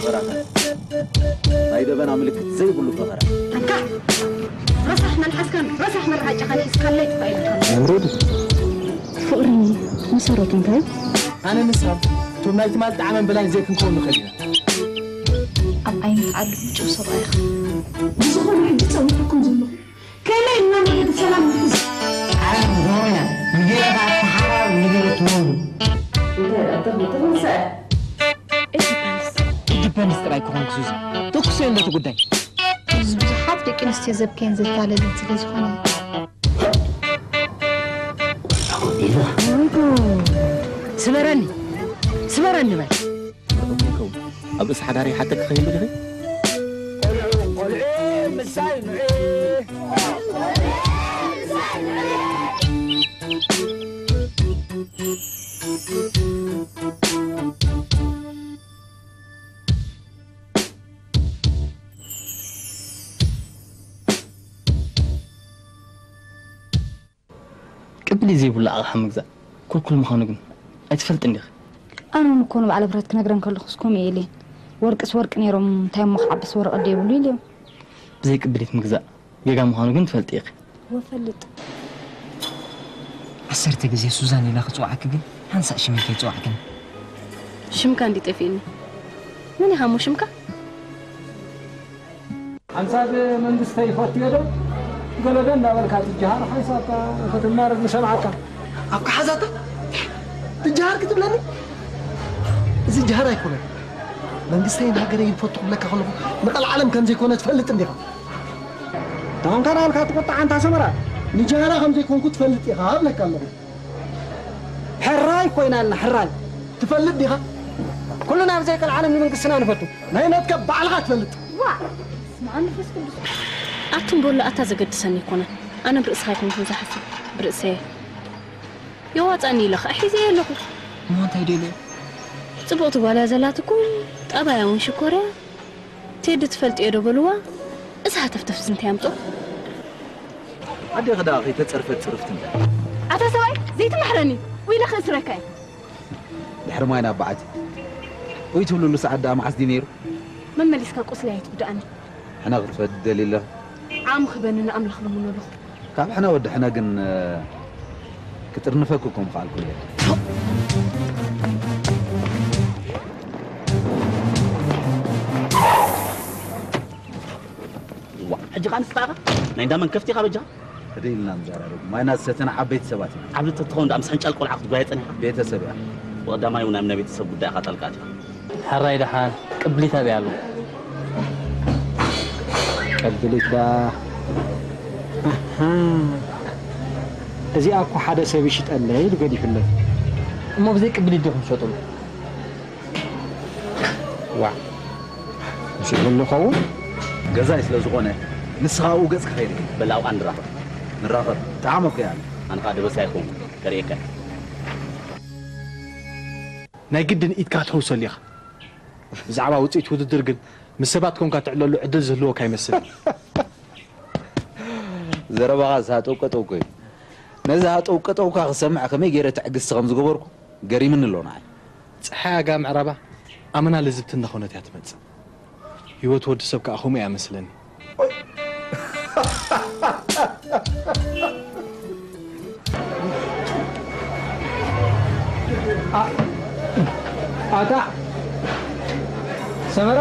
ፈኸራ። ናይ ደበና ምልክት ዘይብሉ ፈኸራ። ኣንታ ረሳሕ መልሓስካን ረሳሕ መርዓጫኻን ሒዝካለይ ጥፋ ኢልካ። ኣንድሮዲ ፍቕሪ መሰረቱ እንታይ? ኣነ ንስኻ እቶም ናይ ትማል ጣዕመን በላይን ዘይክንከውን ንኽእል ኢና። ኣብ ዓይኒ ዓሉ ምጭው ሰብኣይ ኢኻ። ብዝኾነ ሕጂ ጸዊዕኩም ዘለኹ ከመይ ኢልና ብሰላም ንሕዝ። ዓለም ዞርያ ንጌታ ተሓራር ንጌሩ ትወሉ እንታይ ኣተኹም ተኸሰ ኢንዲፐንደንስ ጥራይ ክኾን ክሱዚ ተኩሰ ኣለቲ ጉዳይ ብዙሓት ደቂ ኣንስትዮ ዘብከየን ዘታለልን ስለ ዝኾነ ስበረኒ ስበረኒ በል ኣብ ርእሲ ሓዳሪ ሓተክ ከይህሉ ድኺ ቅብሊ ዘይብሉ ኣቕሓ ምግዛእ ኩልኩል ምዃኑ ግን ኣይትፈልጥን ዲኺ? ኣነ እውን እኮ ንበዓል ብረት ክነግረን ከለኹስ ከምኡ ኢለ ወርቅስ ወርቂ ነይሮም እንታይ እሞ ክዓብስ ወረቐት ዶ የብሉ ኢለዮም። ብዘይ ቅብሊት ምግዛእ ጌጋ ምዃኑ ግን ትፈልጢ ኢኺ። ወፈልጥ ዓሰርተ ግዜ ሱዛን ኢለ ክጽውዓኪ ግን ሓንሳእ ሽመይ ከይጽዋዕክኒ። ሽምካ እንዲ ጠፊእኒ መን ኢኻ እሞ ሽምካ? ሓንሳብ መንግስተይ ይፈትዮ ዶ ገለዶ እንዳበልካ ትጀሃር ሓንሳብ ክትማረር ንሰምዓካ። ኣብ ከሓዛታ ትጀሃር ክትብለኒ? እዚ ጀሃር ኣይኮነን። መንግስተይን ሃገረይን ይፈቱ ክብለካ ከለኹ ንቐልዓለም ከም ዘይኮነ ትፈልጥ እንዲኻ። ተኾንካ ናልካ ትቁጣዕ ኣንታ ሰመራ። ንጀሃራ ከም ዘይኮንኩ ትፈልጥ ኢኻ እብለካ ኣለኹ። ሕራይ ኮይናልና ሕራይ። ትፈልጥ ዲኻ? ኩልና ብዘይ ቀልዓለም ንመንግስትና ንፈቱ። ናይ ናትካ ባዕልኻ ትፈልጥ። ዋ! ስምዓ መንፈስ ቅዱስ። ኣቱም በሉ ኣታ ዘገድሰኒ ኣይኮነን። ኣነ ብርእስኻ ኣይኮንኩን ዝሓስብ ብርእሰየ። የዋጻኒ ኢለ ኸኣ ሒዘዮ ኣለኹ። እሞ እንታይ ደልዮ? ጽብቕቲ ጓል እያ ዘላትኩም፣ ጠባያ እውን ሽኮር እያ። ቴዲ ትፈልጥዮ ዶ በልዋ። እዚ ሃተፍተፍሲ እንታይ ኣምጾ? ኣዴኺ ደኣ ከይተጸርፈት ጽርፍቲ እንታይ? ኣታ ሰብኣይ ዘይትምሕረኒ ወይ ኢለ ክእስረካ እየ። ድሕሪ ማይ ናብ በዓቲ ወይ ትብልሉ ሰዓት ደኣ መዓስ ድዩ ነይሩ? መመሊስካ ቁስለይ ኣይትጉድኣኒ። ሕነ ክትፈዲ ትደሊ ኣለኺ? ዓቕሚ ክበኒ ንኣምላኽ ልምኖ ኣለኹ። ካብ ሕነ ወዲ ሕነ ግን ክጥርንፈኪ እኮ ምኽኣልኩ እየ። ዋ ሕጂ ኸኣ ንስኻ ኢኻ ናይ እንዳ መን ከፍቲ ኢኻ በጃኻ። ህድእ ኢልና ንዘራረብ። ማይና ዝሰተና ዓበይቲ ሰባት ኢና። ዓብዲ ተትኸውን ደኣ ምስ ሕንጫል ቆልዓ ክትጓየ ጸኒሕካ። ቤተሰብ እያ። ብቐዳማይ እውን ኣብ ናይ ቤተሰብ ጉዳይ ኢኻ ጣልቃ ኣቲኻ። ሕራይ ደሓን ቅብሊት ኣበይ ኣሎ? ቅብሊት ደኣ ኣሃ እዚኣ እኮ ሓደ ሰብ ይሽጠለይ ኢሉ ገዲፉለይ። እሞ ብዘይ ቅብሊት ዲኹም ትሸጥሉ? ዋዕ ይሽጥሉ ይኸውን? ገዛኢ ስለ ዝኾነ ንስኻ ኣብኡ ገጽካ ከይርኤ። በል ኣብኣ ንራኸብ። ንራኸብ። ጠዓመ እኮ እያ። ኣነ ኸኣ ደበሳ ኣይኮንኩን። ከርእየካ እየ። ናይ ግድን ኢድካ ትሕውሰሉ ኢኻ። ብዛዕባ ውጽኢት ውድድር ግን ምስ ሰባት ኮንካ ትዕለሉ ዕድል ዝህልወካ ኣይመስልን። ዘረባኻስ ሃጠው ቀጠው እኮ እዩ። ነዚ ሃጠው ቀጠውካ ክሰምዕ ከመይ ገይረ ትዕግስቲ ከም ዝገበርኩ ገሪምኒ ኣሎ ንዓይ። ጸሓይ ኣጋ ምዕራባ ኣመና ልዝብቲ እናኾነት እያ ትመጽእ። ህይወት ወዲ ሰብ ከኣ ከምኡ እያ መስለኒ። ኣታ ሰመራ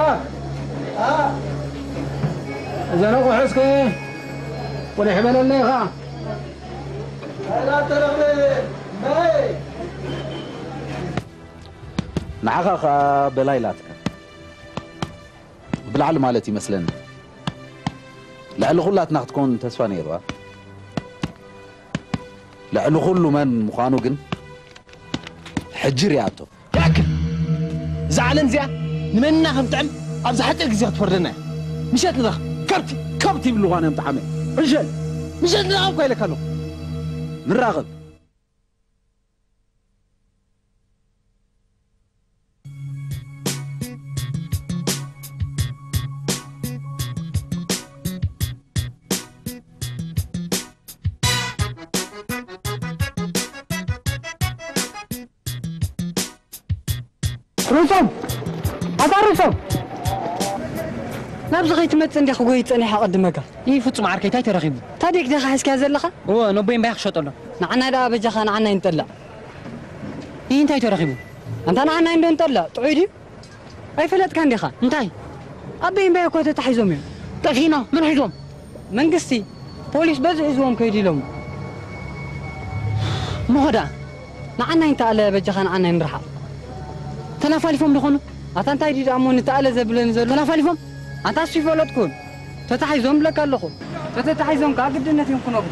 እዘን ኣቑሑ እስከ ቁሊሕ በለለይ ኢኻ። ንዓኻ ኸኣ በላይ ኢላትካ። ብላዕሊ ማለት ይመስለኒ። ልዕሊ ኩላትና ክትከውን ተስፋ ነይርዋ። ልዕሊ ኩሉ መን ምዃኑ ግን ሕጂ ሪኣቶ። ይኣክል! እዛ ዓለም እዚኣ ንመንና ከም ጥዕም ኣብዚ ሓፂር ግዜ ክትፈርደና እያ። ምሸት ንረኽ ከብቲ ከብቲ ይብልዋ እዮም ጠዓመ። ዕሸል! ምሸት ንረኸብ እኳ ኢለካ ኣለኹ። ንራኸብ። ርእሶም ኣታ ርእሶም ኣብዚ ከይትመጽእ እንዲኻ ክጎይ ጸኒሐ ኣቐድመካ። ይህ ፍጹም ዓርከይ እንታይ ተረኺቡ? ታዲክ ዲኻ ሒዝካያ ዘለኻ? እወ፣ ነቦይ እምባይ ክሸጠሎም። ንዓና ደኣ በጃኻ ንዓና ይንጠላዕ። ይህ እንታይ ተረኺቡ? ኣንታ ንዓና እንዶ ንጠላዕ፣ ጥዑይ ድዩ? ኣይፈለጥካን ዲኻ? እንታይ? ኣቦይ እምባይ እኮ ተታሒዞም እዮም። ጠፊእና? መን ሒዞም? መንግስቲ፣ ፖሊስ በዚ ሒዝዎም ከይዱ ኢሎም። እሞ ኸ ደኣ? ንዓና ይንተኣለ በጃኻ ንዓና ይንርሓቕ። ተላፋሊፎም ዶ ኾኑ? ኣታ እንታይ ድዩ ደኣ እሞ ንተኣለ ዘብለኒ ዘሎ? ተላፋሊፎም? ኣንታ እሱ ይፈለጥኩን። ተታሒዞም ብለካ ኣለኹ። ተተታሒዞም ከኣ ግድነት እዮም ክነብሩ።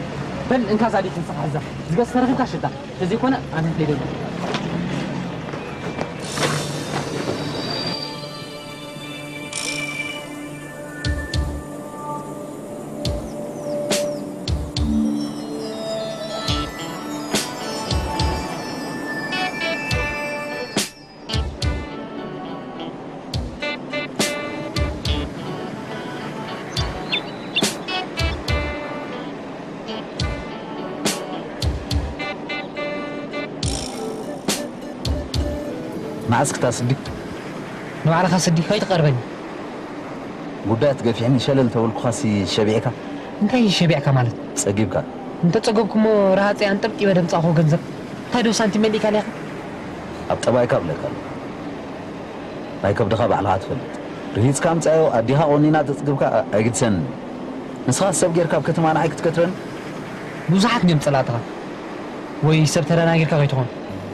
በል እንካ ዛዲት ንስኻ ሕዛ። ዝገዝፈ ረኺብካ ሽጣ። ተዘይኮነ ኣነ ክኸይድ ኣለኹ። መዓስ ክታስዲ? ንባዕልኻ ስዲ ከይትቐርበኒ። ጉዳያት ገፊሕኒ ሸለል ተበልኩኻሲ ሸቢዕካ? እንታይ ሸቢዕካ ማለት? ጸጊብካ? እንተጸገብኩሞ ረሃጸይ ኣንጠብጢበ ደምጻእኹ ገንዘብ። እንታይ ዶ ሳንቲም መሊእካ ሊኻ? ኣብ ጠባይካ እብለካ ኣለኹ። ናይ ከብድኻ ባዕልኻ ትፈልጥ። ርሂጽካ ኣምጻዮ፣ ኣዲኻ ቆኒና ተጽግብካ ኣይግድሰንን። ንስኻ ሰብ ጌርካ ኣብ ከተማ ንዓይ ክትከትበኒ? ብዙሓት እዮም ጸላእትኻ። ወይ ሰብ ተደናጊርካ ከይትኾን፣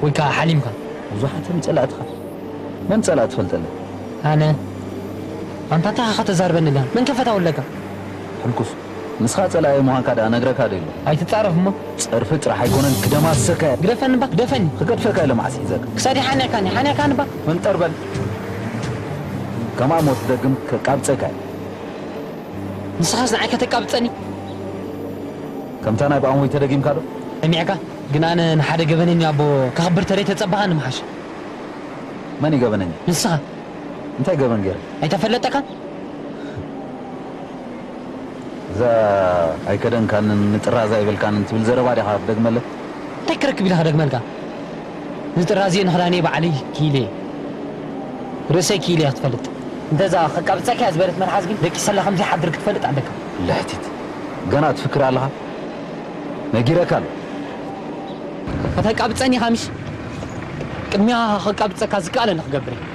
ወይ ከኣ ሓሊምካ። ብዙሓት እዮም ጸላእትኻ። መን ጸላእ ትፈልጠለይ? ኣነ። ኣንታ እንታይ ኢኻ ተዛርበኒ ኣለኻ? መን ከፈታውለካ? ሕልኩስ። ንስኻ ጸላኢ ምዃንካ ደኣ ነግረካ ዶ ኢሉ? ኣይትጻረፍ እሞ። ጸርፊ ጥራሕ ኣይኮነን፣ ክደማስሰካ እየ። ግደፈኒ እባ፣ ግደፈኒ። ክገድፈካ ኢለ መዓስ ሒዘካ? ክሳዲ ሓኒቕካኒ፣ ሓኒቕካኒ እባ። ፈንጠር በል። ከምኣ እሞ ትደግም ከቃብጸካ እየ። ንስኻስ ንዓይ ከተቃብጸኒ? ከምታ ናይ ብኣሞይ ተደጊምካ ዶ? ሰሚዕካ? ግን ኣነ ንሓደ ገበነኛ ኣቦ ከኽብር ተደይ ተጸባኻኒ ምሓሸ። መን እዩ ገበነኛ? ንስኻ። እንታይ ገበን ገይረ? ኣይተፈለጠካን? እዛ ኣይከደንካንን ንጥራዝ ኣይበልካንን ትብል ዘረባ ዲኻ ክትደግመለይ? እንታይ ክረክብ ኢለ ክደግመልካ? ንጥራዝ እየ ንኽዳነይ ባዕለይ ክኢለ እየ። ርእሰይ ክኢለ እየ ክትፈልጥ። እንተዛ ከቃብጸካ እያ ዝበለት መልሓስ ግን ደቂሰላ ከም ዘይሓድር ክትፈልጥ ኣለካ። ልሕቲት። ገና ትፍክር ኣለኻ? ነጊረካ ኣሎ። ከተቃብጸኒ ኢኻ ምሽ? ቅድሚያ ከቃብጸካ ዝከኣለኒ ክገብር እየ።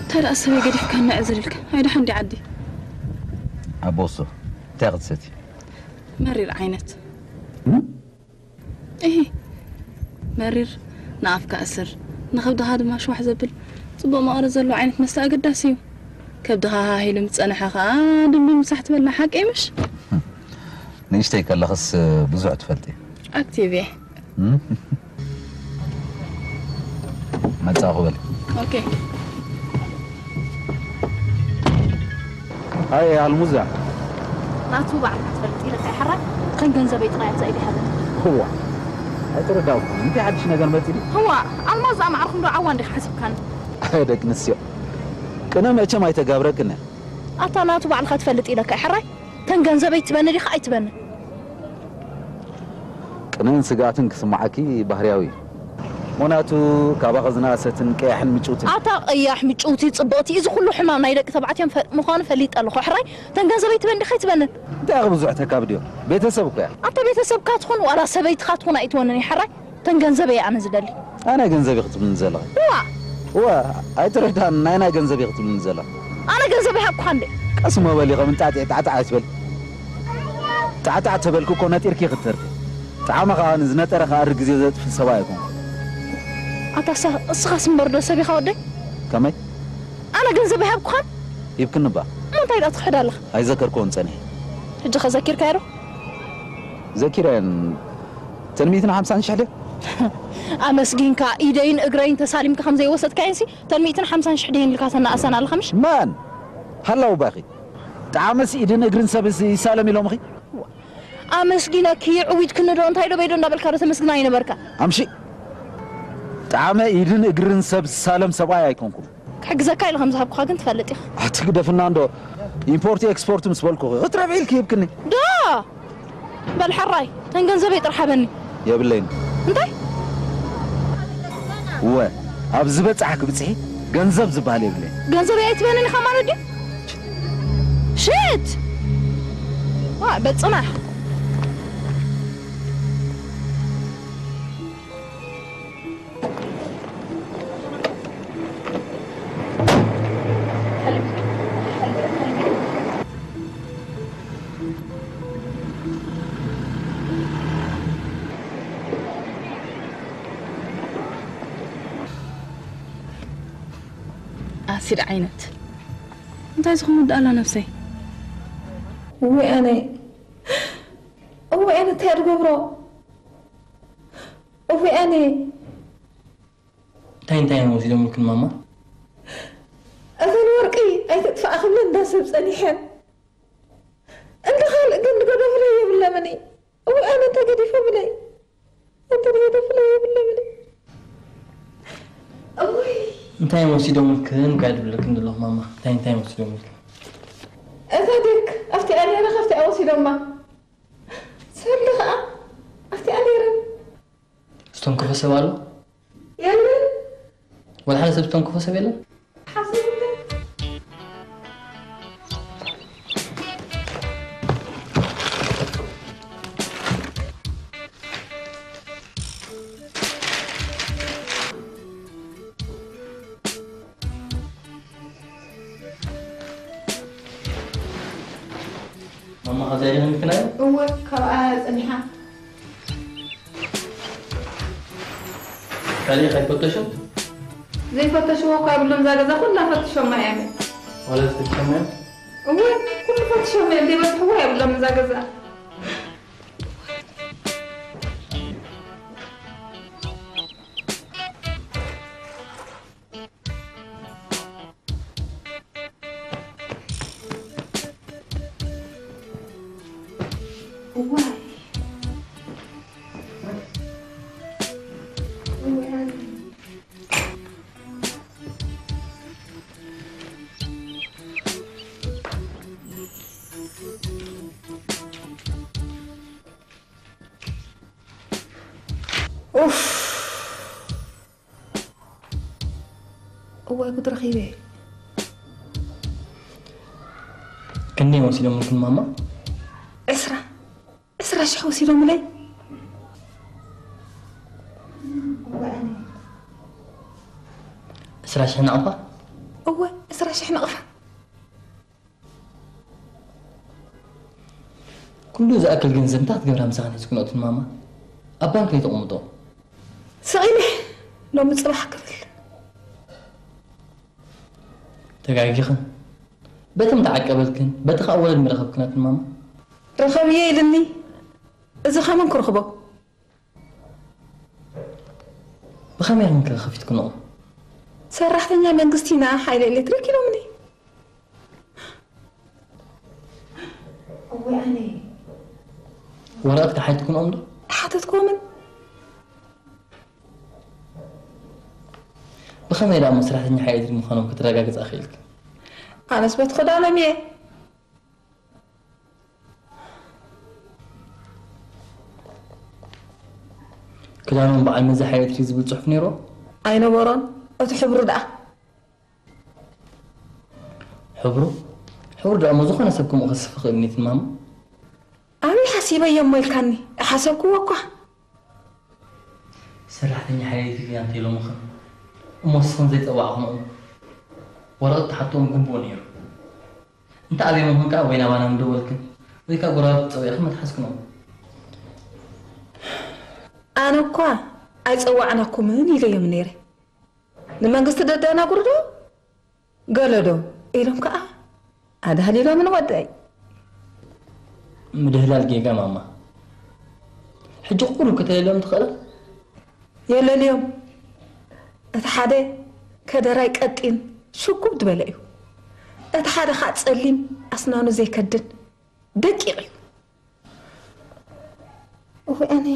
እንታይ ደኣ ሰበይ ገዲፍካ እናዕዘልልካ? ኣይዳ ሓንቲ ዓዲ። ኣቦ እሱ እንታይ ክትሰቲ? መሪር ዓይነት። እም? እሂ፣ መሪር ንኣፍካ እስር፣ ንኸብድኻ ድማ ሽዋሕ ዘብል ጽቡቕ መቐረት ዘለዎ ዓይነት መስተ ኣገዳሲ እዩ። ከብድኻ ሃሂሉ ምስ ጸንሐ ኸኣ ድንቢ ምሳሕ ትበልዕ ሓቀይ ምሽ? ንእሽተይ ከለኽስ ብዙሕ ትፈልጢ። ኣክቲቭ እየ። እም? መጻኹ በል። ኦኬ። ሃይ ኣልሙዛ። ናቱ ባዕልካ ትፈልጥ ኢለካ ይሓራ። ከም ገንዘበይ ጥራይ ኣብዛ ኢደ ሃበኒ። እዋ። ኣይተረዳእኩን። እንታይ ሓድሽ ነገር መጺ ድዩ? እዋ፣ ኣልማዝ ኣማዕርኩም ዶ ዓዋ እንዲኻ ሓሰብካኒ? ኣይ ደቂ ኣንስትዮ። ቅነ መቸም ኣይተጋብረክን እያ። ኣታ ናቱ ባዕልካ ትፈልጥ ኢለካ ይሓራይ። ተን ገንዘበይ ትበኒ ዲኻ ኣይትበኒ? ቅነን ስግኣትን ክስምዓኪ ባህርያዊ እዩ። ሞናቱ ካባኸ ዝነኣሰትን ቀያሕን ምጭውትን። ኣታ ቀያሕ ምጭውቲ ጽብቕቲ፣ እዚ ኩሉ ሕማም ናይ ደቂ ተባዕትዮም ፈ-፣ ምዃኑ ፈሊጠ ኣለኹ። ሕራይ፣ ተን ገንዘበይ ትበን ዲኻ ኣይትበንን? እንታይ ኢኺ ብዙሕ ተካብድዮ? ቤተሰብ እኮ እያ። ኣታ ቤተሰብካ ትኹን ዋላ ሰበይትኻ ትኹን ኣይትወንን እያ። ሕራይ፣ ተን ገንዘበይ እየ ኣነ ዝደሊ። ኣነ ገንዘብ ኢኺ ትብልኒ ዘለኺ? እዋ። እዋ፣ ኣይትረዳን ናይ ናይ ገንዘብ ኢኺ ትብልኒ ዘለኺ? ኣነ ገንዘብ ይሃብኩኻ እንዴ? ቀስ እሞ በሊ፣ ከም እንጣጢዕ ጣዕጣዕ ኣይትበሊ። ጣዕጣዕ ተበልኪ እኮ ነጢርኪ ክትተርፊ። ጣዕሚ ከኣ ንዝነጠረ ክኣሪ ግዜ ዘጥፍእ ሰብኣይ ኣይኮንኩን። ኣታ እሳ-፣ እስኻስ እምበር ዶ ሰብ ኢኻ ወደይ? ከመይ? ኣነ ገንዘብ ኣይሃብኩኻን? ሂብክኒ እባ። እሞ እንታይ ደኣ ትኽሕድ ኣለኻ? ኣይዘከርክዎን ጸኒሐ። ሕጂ ከ ዘኪርካዮ ዶ? ዘኪረን። እተን ሚእትን ሓምሳን ሽሕ ድዮ? ኣመስጊንካ፣ ኢደይን እግረይን ተሳሊምካ ከም ዘይወሰድካየንሲ፣ እተን ሚእትን ሓምሳን ሽሕ ድየን ኢልካ ተናእሰን ኣለኻ ምሽ? መን? ሃላው ባኺ። ጣዕመስ ኢድን እግርን ሰብ ይሳለም ኢሎምኺ? ኣመስጊነኪ፣ ይዕዊትክኒ ዶ እንታይ ዶ በይ ዶ እንዳበልካ ዶ ተመስግና ይነበርካ? ኣምሺ። ጣዕመ ኢድን እግርን ሰብ ዝሳለም ሰብኣይ ኣይኮንኩን። ክሕግዘካ ኢለ ከም ዝሃብኩኻ ግን ትፈልጥ ኢኻ። ኣቲ ግደፍና እንዶ። ኢምፖርት ኤክስፖርት ምስ በልኩኺ ክትረብዒ ኢልኪ ሂብክኒ። ዶ! በል ሕራይ፣ ተን ገንዘበይ ጥራሕ ሃበኒ። የብለይን። እንታይ? እወ፣ ኣብ ዝበጻሕ ክብጽሒ ገንዘብ ዝበሃል የብለይን። ገንዘበይ ኣይትበንን ኢኻ ማለት ድዩ? ሽት! ዋ፣ በጽናሕ። ኣሲድ ዓይነት እንታይ ዝኹን ወዲ ኣላ ነፍሰይ። እወይ ኣነ፣ እወይ ኣነ እንታይ እያ ትገብሮ? እወይ ኣነ። እንታይ እንታይ እዮም ወሲዶምልክን ማማ? እተን ወርቂ ኣይትጥፋእ ክብለን እንዳ ሰብ ጸኒሐን። እንተ ካልእ ግን ዝገደፉለይ የብለምን። እወ ኣነ እንተ ገዲፎምለይ፣ እንተ ገደፉለይ የብለምን። እወይ። እንታይ እዮም ወሲዶምልክን እኮ እየ ዝብለክን ዘለኹ ማማ። እንታይ እንታይ እዮም ወሲዶምልክን? እታ ዴክ ኣብቲኣ ነይራ ካብቲኣ ወሲዶማ። ሰልዲ ኸኣ ኣብቲኣ ነይረን። ዝተንከፎ ሰብ ኣሎ? የለን። ወላ ሓደ ሰብ ዝተንከፎ ሰብ የለን? ሓሲብለ። ማማ፣ ካብዚኣ ዲኺ ምክናይ? እወ፣ ካብኣ ጸኒሓ። ካልእ ከይፈተሹ? ዘይፈተሽዎ እኳ የብሎም፣ እዛ ገዛ ኩላ ፈትሾማ እዮም። ወላ ዝፈትሾማ እዮም? እወ፣ ኩሉ ፈትሾማ እዮም፣ ዘይበጽሕዎ የብሎም እዛ ገዛ። እዋይ። እዋይ። ኡፍ። እዋይ ጉድ ረኺበ። ክንደይ ወሲዶምልክን ማማ? ዕስራ፣ ዕስራ ሽሕ ወሲዶምለይ። እዋይ ኣነ። ዕስራ ሽሕ ናቕፋ? እወ፣ ዕስራ ሽሕ ናቕፋ። ኩሉ ዝኣክል ገንዘብ እንታይ ክትገብራ ምሳኻ ነዚ ኩነትን ማማ? ኣብ ባንክ ለይተቐምጦ? ስቕ ኢለ ሎሚ ጽባሕ ክብል። ተጋጊኽን። በቲ ምተዓቀበልክን፣ በቲ ኸኣ ወለድ ምረኸብክናትን ማማ? ርኸብዮ ኢልኒ። እዚ ኸመን ክርኽቦ? ብኸመይ ኢኽን ከ ከፊትክንኦ? ሰራሕተኛ መንግስቲ ኢና፣ ሓይሊ ኤሌክትሪክ ኢሎምኒ። እወ ኣነ። ወረቐት ከሓትክንኦም ዶ? ሓተትክዎምን። ብኸመይ ደኣ እሞ ሰራሕተኛ ሓይሊ ኤሌክትሪክ ምዃኖም ከተረጋግጽ ኣኽኢልክ? ኣነስ በቲ ክዳኖም እየ። ክዳኖም በዓል መዚ ሓይሊ ኤሌክትሪክ ዝብል ጽሑፍ ነይሩ? ኣይነበሮን። እቲ ሕብሩ ደኣ? ሕብሩ? ሕብሩ ደኣ እሞ ዝኾነ ሰብ ከምኡ ከስፍ ይኽእል ኒትን ማማ? ኣበይ ሓሲበዮ እሞ ኢልካኒ? ሓሰብክዎ እኳ። ሰራሕተኛ ሓይሊ ኤሌክትሪክ እያ እንተኢሎምኽን እሞ ንስኽን ዘይጸዋዕኽንኦም ወረቐት ትሓትኦም ግቡእ ነይሩ። እንተ ኣብዮምኽን ከኣ ወይ ናባና ምደወልክን ወይ ከኣ ጎረባብቲ ጸዊዕኽን ምትሓዝክንኦም። ኣነ እኳ ኣይጸዋዕናኩምን ኢለዮም ነይረ። ንመንግስቲ ደደናጉሩ ዶ? ገለ ዶ? ኢሎም ከኣ ኣድሃሊሎምን ወደይ። ምድህላል ጌጋ ማማ። ሕጂ ቁሩብ ከተለልዮም ትኽእላ? የለልዮም። እቲ ሓደ ከደራይ ቀጢን ሽጉብ ዝበለ እዩ። እቲ ሓደ ኸዓ ጸሊም ኣስናኑ ዘይከድን ደቂቕ እዩ። እወ ኣነ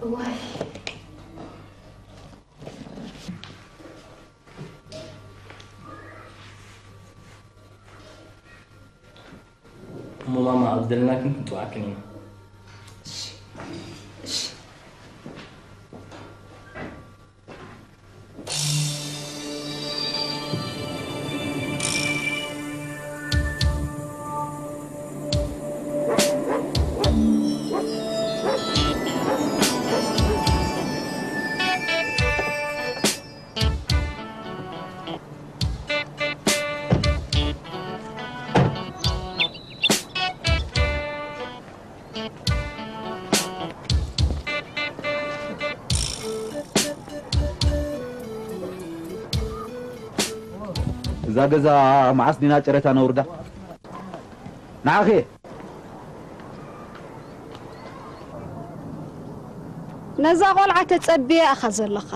እዋይ እሞ ማማ ኣብ ዝደለናክን ክንጽውዓክን ኢና። እዛ ገዛ መዓስ ዲና ጨረታ ነውርዳ? ንዓኺ ነዛ ቆልዓ ተጸብየ ኣኻ ዘለኻ።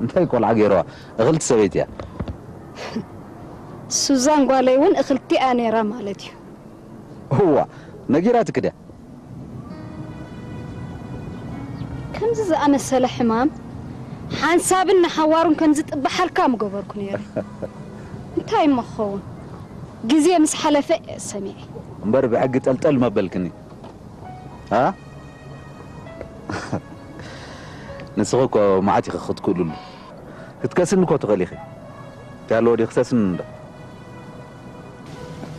እንታይ ቆልዓ ገይረዋ? እኽልቲ ሰበይቲ እያ። ሱዛን ጓለይ እውን እኽልቲ እያ ነይራ ማለት እዩ። እዋ ነጊራትክ ድያ? ከምዚ ዝኣመሰለ ሕማም ሓንሳብን ንሓዋሩን ከም ዝጥበሓልካ ምገበርኩ ነይረ። እንታይ እሞ ክኸውን? ግዜ ምስ ሓለፈ እየ ሰሚዐ። እምበር ብሕጊ ጠልጠል መበልክኒ። ኣ ንስኺ እኮ መዓት ኢኺ ክትክእልሉ። ክትከስኒ እኮ ትኽእሊ ኢኺ። እንታይ ኣለዎ ድዩ ክሰስኒ እንዶ?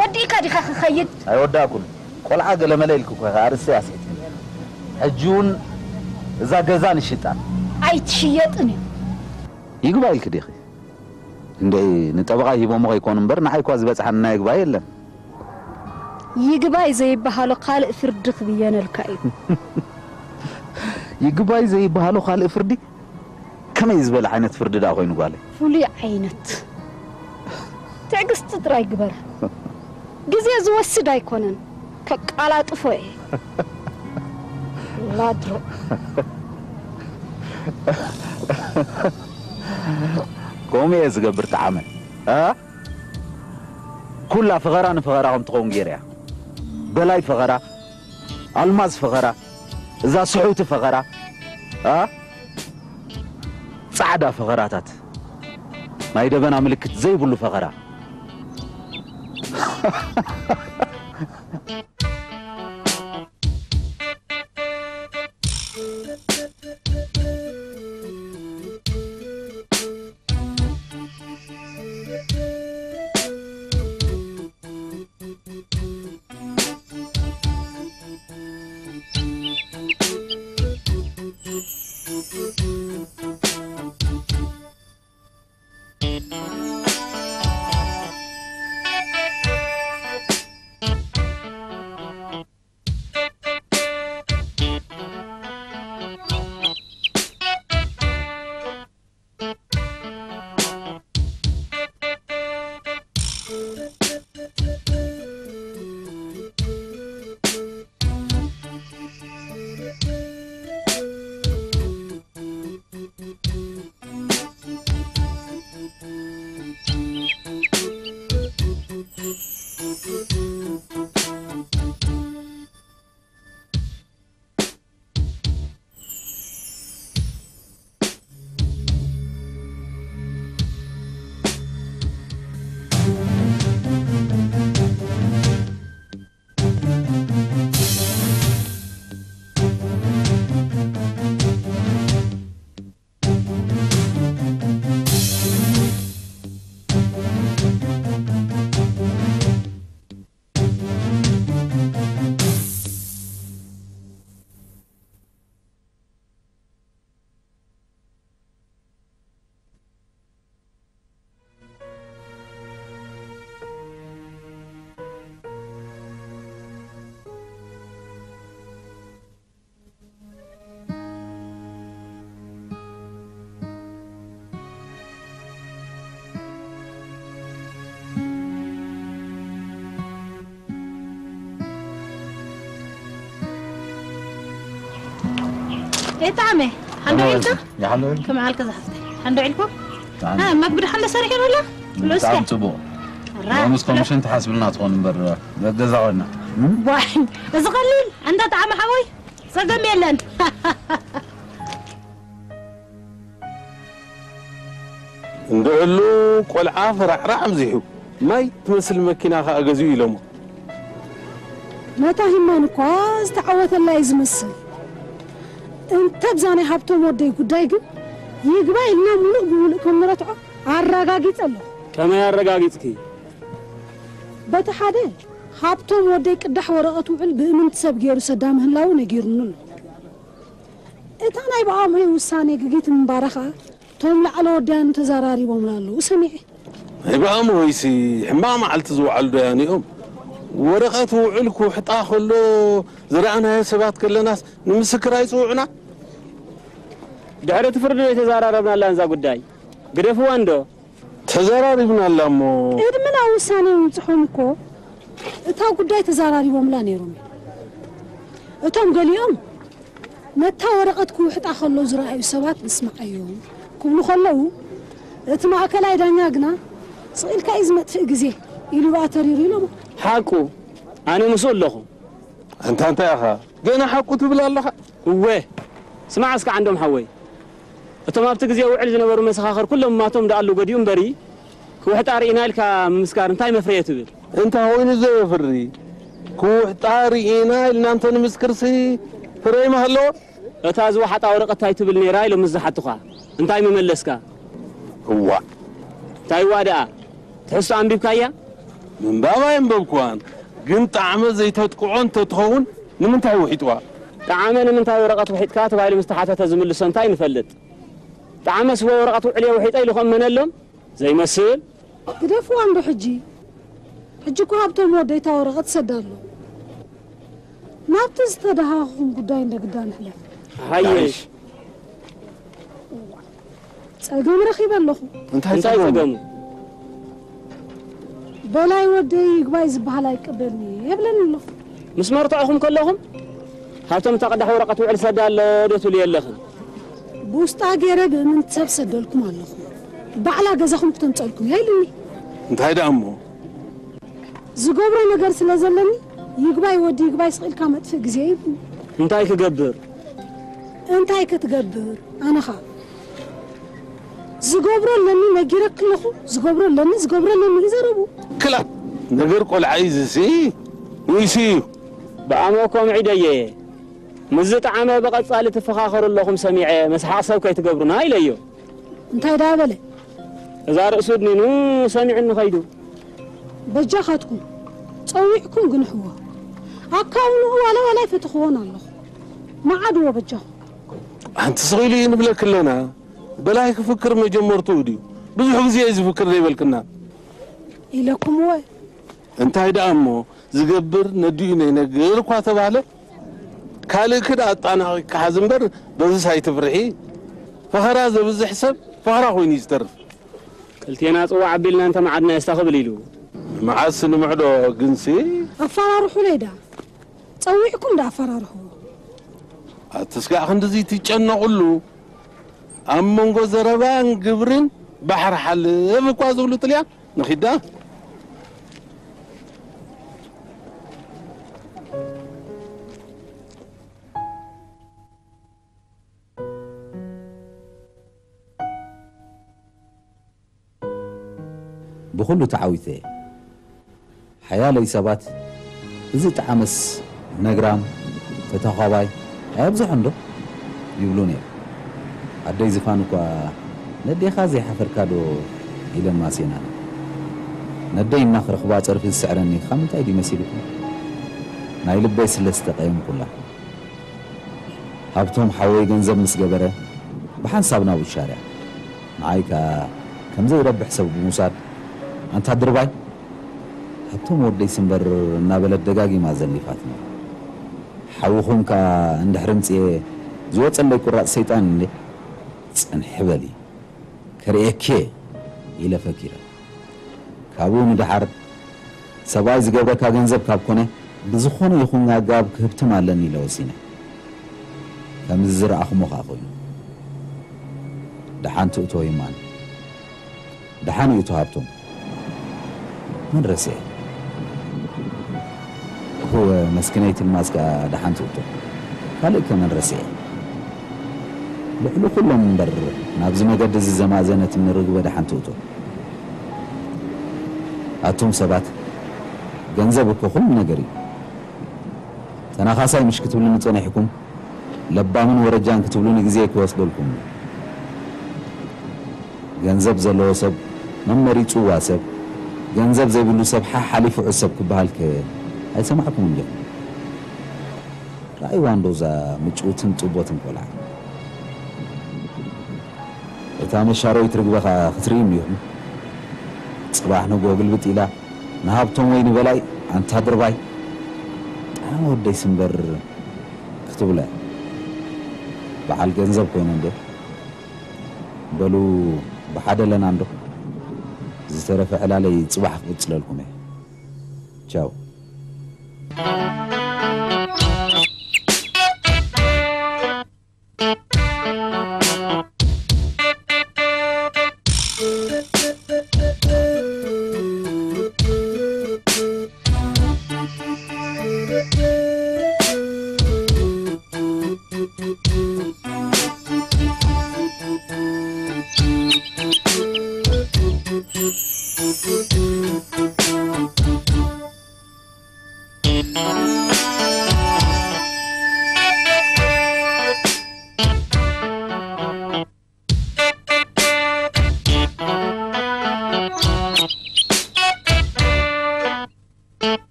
ወዲእካ ዲኻ ክኸይድ? ኣይወዳእኩን። ቆልዓ ገለመለ ኢልኪ እኮ ኢኺ ኣርእስተይ ኣስሒትክኒ። ሕጂ እውን እዛ ገዛ ንሽጣ። ኣይትሽየጥን እዩ። ይግባእ ኢልኪ ዲኺ? እንዴ ንጠበቓ ሂቦሞ ከይኮኑ እምበር ንዓይ እኳ ዝበጽሓኒ ናይ ይግባይ የለን። ይግባይ ዘይበሃሎ ካልእ ፍርዲ ክብየነልካ እዩ። ይግባይ ዘይበሃሎ ካልእ ፍርዲ? ከመይ ዝበለ ዓይነት ፍርዲ ደኣ ኮይኑ ጓለይ? ፍሉይ ዓይነት ትዕግስቲ ጥራይ ግበር። ግዜ ዝወስድ ኣይኮነን፣ ከቃላጥፎ እየ። ላድሮ ከምኡ እየ ዝገብር ጠዓመ እ ኩላ ፈኸራ ንፈኸራ ከም ትኸውን ገይረ እያ። በላይ ፈኸራ፣ ኣልማዝ ፈኸራ፣ እዛ ስሑቲ ፈኸራ እ ጻዕዳ ፈኸራታት ናይ ደበና ምልክት ዘይብሉ ፈኸራ። የጣዕመ ሓንዶ ኢልካ ይሓሎ ኢልካ ከም ዓልከ ዝሓፍተ ሓንዶ ኢልኩም አ መግቢ ድሓን ሰሪሑ ነላ ብጣዕሚ ጽቡቕ ሎምስ ኮሚሽን ትሓስብልና ትኾን እምበር ገዛ ኮይና ዋይ እዚ ቀሊል እንተ ጣዕመ ሓወይ ጸገም የለን እንድዕሉ ቆልዓ ፈራዕራዕ ኣብዚሑ ማይ ትመስል መኪና ከኣ ገዚኡ ኢሎሞ። ነታ ሂማን እኳ ዝተዓወተላ እዩ ዝመስል። እንተ ብዛ ናይ ሃብቶም ወደይ ጉዳይ ግን ይግባይ ኢልና ሙሉእ ብሙሉእ ከም ንረትዖ ኣረጋጊጸ ኣለኹ። ከመይ ኣረጋጊጽኪ? በቲ ሓደ ሃብቶም ወደይ ቅዳሕ ወረቐት ውዕል ብእምንቲ ሰብ ገይሩ ሰዳ ምህላዉ ነጊሩኒ ኣሎ። እታ ናይ ብኣምሆይ ውሳኔ ግጊት ምንባራ ኸኣ እቶም ላዕለ ወዳያኑ ተዘራሪቦምላ ኣለዉ ሰሚዐ። ናይ ብኣምሆይሲ ሕማቕ መዓልቲ ዝወዓሉ ዶያኑ እዮም። ወረቐት ውዕል ክውሕጣ ከሎ ዝረኣናዮ ሰባት ከለናስ ንምስክር ኣይጽውዑና። ድሕሪ እቲ ፍርዲ ዶ ኣይተዘራረብናላን እዛ ጉዳይ? ግደፍዋ እንዶ። ተዘራሪብናላ እሞ። ቅድሚ ናብ ውሳኔ ምብጽሖም እኮ እታ ጉዳይ ተዘራሪቦምላ ነይሮም እዮም። እቶም ገሊኦም ነታ ወረቐት ክውሕጣ ከሎ ዝረኣዩ ሰባት ንስምዓዮም ክብሉ ከለዉ እቲ ማእከላይ ዳኛ ግና ስቕ ኢልካ እዩ ዝመጥፍእ ግዜ ኢሉ ብኣ ተሪሩ ኢሎሞ። ሓቁ ኣነ ምስኡ ኣለኹ። ኣንታ እንታይ ኢኻ ገና ሓቁ ትብል ኣለኻ? እወ ስማዕ እስከ ዓንዶም ሓወይ እቶም ኣብቲ ግዜ ውዕል ዝነበሩ መሰኻኽር ኩሎም ማቶም ደኣሉ ገዲኡ እምበሪ ክውሕጣ ርኢና ኢልካ ምምስካር እንታይ መፍረየ ትብል? እንታይ ኮይኑ ዘየፍሪ ክውሕጣ ርኢና ኢልና እንተ ንምስክርሲ ፍረ ይመሃለዎ? እታ ዝወሓጣ ወረቐት እንታይ ትብል ነይራ ኢሎም ምስ ዝሓቱኻ እንታይ ምመለስካ? እዋእ እንታይ እዋእ ደኣ ትሕዝቶ ኣንቢብካያ? ምንባብ ኣየንበብክዋን ግን ጣዕመ ዘይተጥቅዖ እንተትኸውን ንምንታይ ውሒጥዋ? ጣዕመ ንምንታይ ወረቐት ውሒጥካ ተባሂሉ ምስ ተሓተተ ዝምልሶ እንታይ ንፈልጥ? ጣዕመ ስወ ወረቐት ውዕልየ ውሒጠ ኢሉ ክእመነሎም ዘይመስል? ግደፍዋ እንዶ ሕጂ። ሕጂ እኮ ሃብቶም ወደይ እታ ወረቐት ሰዳ ኣሎ። ናብቲ ዝተደሃኹኹም ጉዳይ እንደ ግዳ ንሕለፍ። ሓየሽ። ጸገም ረኺበ ኣለኹ። እንታይ እንታይ ጸገሙ? ጸገሙ? በላይ ወደይ ይግባይ ዝበሃል ኣይቀበልኒ የብለኒ ኣሎ። ምስ መርትዖኹም ከለኹም ሃብቶም እታ ቅዳሕ ወረቐት ውዕል ሰዳ ኣሎ ዶ ትብሉ የለኽን? ብውስጣ ገይረ ብእምንቲ ሰብ ሰደልኩም ኣለኹ። ባዕላ ገዛኹም ክተምፀልኩም እያ ኢሉኒ። እንታይ ደኣ እሞ? ዝገብሮ ነገር ስለ ዘለኒ ይግባይ ወዲ ይግባይ ስቕ ኢልካ መጥፍእ ግዜ ይብሉኒ። እንታይ ክገብር? እንታይ ክትገብር? ኣነ ኸኣ ዝገብሮ ኣለኒ ነጊረኪ ኣለኹ። ዝገብሮ ኣለኒ ዝገብሮ ኣለኒ እዩ ዘረቡ። ክላ ነገር ቆልዓ እዩ ዝሲ ወይሲ እዩ። ብኣሞ ከምዒ ደየ ምስ ዝጠዓመ ብቐጻሊ ትፈኻኸሩ ኣለኹም ሰሚዐ መስሓቕ ሰብ ከይትገብሩና ኢለዮ። እንታይ ደኣ በለ? እዛ ርእሱ ድኒኑ ሰሚዑኒ ኸይዱ። በጃኻትኩም ጸዊዕኩም ግንሕዎ። ኣካውንኡ ዋላ ዋላ ኣይፈተኽዎን ኣለኹ። መዓድዎ በጃኹም። ኣንቲ ስቕ ኢሉ እዩ ንብለኪ ኣለና። በላይ ክፍክር መጀመርትኡ ድዩ? ብዙሕ ግዜ እዩ ዝፍክር ዘይበልክና። ኢለኩምዎ። እንታይ ደኣ እሞ ዝገብር ነዲኡ ነይነግር እኳ ተባህለ ካልእኪ ደኣ ኣጣናቒ ክሓዝ እምበር በዝስ ኣይትፍርሒ። ፈኸራ ዘብዝሕ ሰብ ፈኸራ ኮይኑ እዩ ዝተርፍ። ክልቴና ጽዋዕ ኣቢልና እንተ መዓድና የስታ ክብል ኢሉ። መዓስ ንምዕዶ ግንሲ? ኣፈራርሑለይ ደኣ ጸዊዕኩም ደኣ ኣፈራርሕዎ። ኣቲ ስጋዕ ክንድዚ ትጨነቑሉ ኣብ መንጎ ዘረባን ግብርን ባሕሪ ሓልፍ እኳ ዝብሉ ጥልያን ንኺዳ ብኹሉ ተዓዊተ እየ። ሓያለይ ሰባት እዚ ጠዓመስ ነግራም ተተኳባይ ኣየብዝሖን ዶ ይብሉኒ እዮም። ኣደይ ዝፋን እኳ ነዴኻ ዘይሓፈርካ ዶ ኢለን ማስየናኒ። ነደይ እናኽረኽባ ጸርፊ ዝስዕረኒ ካብ ምንታይ ድዩ መሲልኩም? ናይ ልበይ ስለ ዝተቐየምኩላ። ሃብቶም ሓወይ ገንዘብ ምስ ገበረ ብሓንሳብ ናብኡ ሻርያ። ንዓይ ከኣ ከም ዘይረብሕ ሰብ ብምውሳድ ኣንታ ድርባይ ሃብቶም ወደይሲ እምበር እናበለት ደጋጊማ ዘሊፋትኒ። ሓውኹም ከኣ እንድሕሪ ምጽኤ ዝወጸለይ ቁራጽ ሰይጣን እንዴ ጽንሒ በሊ ከርእየኪ ኢለ ፈኪረ። ካብኡ ንደሓር ሰብኣይ ዝገብረካ ገንዘብ ካብ ኮነ ብዝኾነ ይኹን ኣገባብ ክህብትም ኣለኒ ኢለ ወሲነ። ከምዚ ዝረኣኹሞ ኸኣ ኮይኑ። ደሓን ትእቶ ይማን። ደሓን ይእቶ ሃብቶም። መን ረስዐ? እወ፣ መስኪነይቲ ልማዝ ከኣ ደሓን ትእቶ። ካልእ ከ መን ረስዐ? ልዕሊ ኩሎም እምበር፣ ናብዚ መገዲ እዚ ዘማእዘነት እምኒ ርግበ ደሓን ትእቶ። ኣቱም ሰባት፣ ገንዘብ እኮ ኩሉ ነገር እዩ። ተናኻሳይ ምሽ ክትብሉኒ ጸኒሕኩም፣ ለባምን ወረጃን ክትብሉኒ ግዜ ክወስደልኩም። ገንዘብ ዘለዎ ሰብ፣ መመሪጽዋ ሰብ፣ ገንዘብ ዘይብሉ ሰብ ሓሓሊፉ ዕሰብ ክበሃል ከ ኣይሰማዕኩምን ዲኹም? ረኣይዋ እንዶ እዛ ምጭውትን ጥቦትን ቆልዓ። እታ መሻረዊት ርግበ ኸኣ ክትርእዩ እኒኹም። ጽባሕ ንግሆ ግልብጥ ኢላ ንሃብቶም ወይ ንበላይ፣ ኣንታ ድርባይ፣ ጣዕማ ወደይስ እምበር ክትብሎ እያ። በዓል ገንዘብ ኮይነ እንዴ? በሉ ብሓደ ኣለና እንዶ? ዝተረፈ ዕላለይ ጽባሕ ክቕጽለልኩም እየ። ቻው።